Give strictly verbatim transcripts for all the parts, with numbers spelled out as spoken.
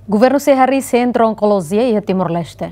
Governu sei harii Sentru Onkolojia iha Timor-Leste.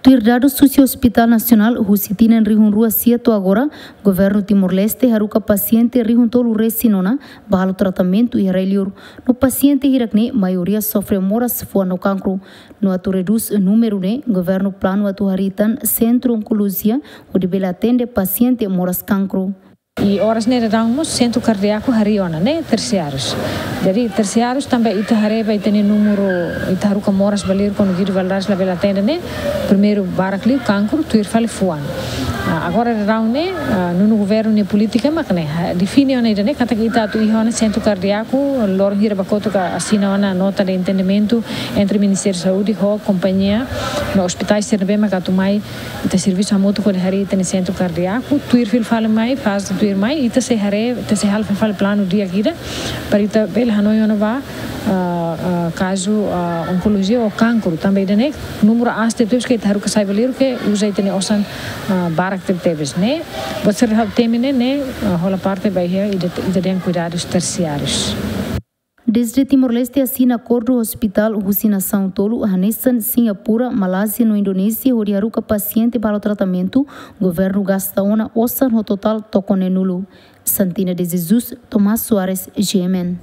Tuir dadus husi Hospital Nasionál, husi tinan rihun rua sia to'o agora, Governu Timor-Leste haruka pasiente rihun tolu resin ona ba halo tratamentu iha rai-liur. No pasiente hirak-ne'e maioria sofre moras fuan no kankru. No atu redús númeru ne'e, Governu planu atu harii tan Sentru Onkolojia, hodi bele atende pasiente moras kankru. I oras ne'e daudaun mós sentru kardiaku harii ona, ne'e tersiárius. Jadi tersiárius tanba ita haree ba ita-nia númeru, ita haruka moras ba liur kuandu Guido Valadares labele atende ne'e, primeiru barak liu kankru, tuir fali fuan. Ah, agora daudaun ne'e, ah, nonu governu nia polítika mak ne'e, ah, define ona ida-ne'e, katak ita atu iha ona sentru kardiaku, loron hira ba kotuk asina ona nota de entendimentu entre Ministériu Saúde ho kompañia no ospitais sira ne'ebé mak atu mai ita servisu hamutuk hodi harii ita-nia sentru kardiaku, tuir fila fali mai, fase tuir mai, ita sei haree, ita sei halo fila fali planu di'ak ida, para ita bele hanoin ona ba, ah, ah, kazu, ah, onkolojia ou kankru, tanba ida-ne'e, númeru aas tebes ke ita haruka sai ba liur ke uza ita-nia osan, ah, barak tebetebes ne'e. Buat sira halo temi ne'e, ne'e, ah, hola parte ba iha ida, ida dehan kuidadus tersiárius. Dezde Timor-Leste asina akordu hospital husi nasaun tolu hanesan Singapura, Malázia no Indonézia hodi haruka pasiente ba halo tratamentu, governu gasta ona osan ho totál tokon neenulu. Santina de Jesus, Tomás Soares, G M N.